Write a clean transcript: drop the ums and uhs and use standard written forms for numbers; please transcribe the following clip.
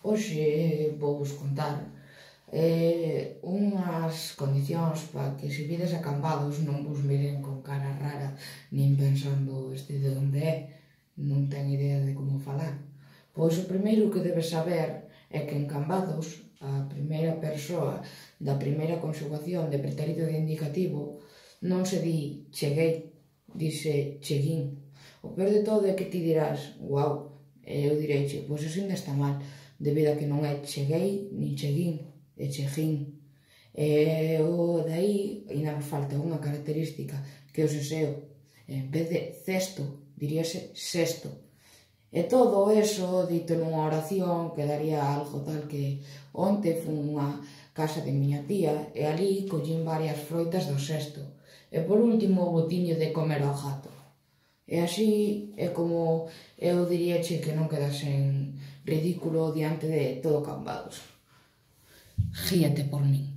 Hoxe vou vos contar unhas condicións para que se vides acambados non vos miren con cara rara nin pensando este de onde é, non ten idea de como falar. Pois o primeiro que debes saber é que en Cambados a primeira persoa da primeira conxugación de pretérito de indicativo non se di cheguei, dise cheguín. O peor de todo é que ti dirás, guau, eu direiche, pois eso ainda está mal, debido a que non é cheguei nin cheguín, é cheguín. E o dai ainda nos falta unha característica que é o seseo. En vez de cesto, diríase sesto. E todo eso dito nunha oración quedaría algo tal que onte fun unha casa de miña tía e ali collín varias froitas do cesto. E por último botiño de comer ao gato. E así é como eu diríache que non quedas en ridículo diante de todo Cambados. Gíate por min.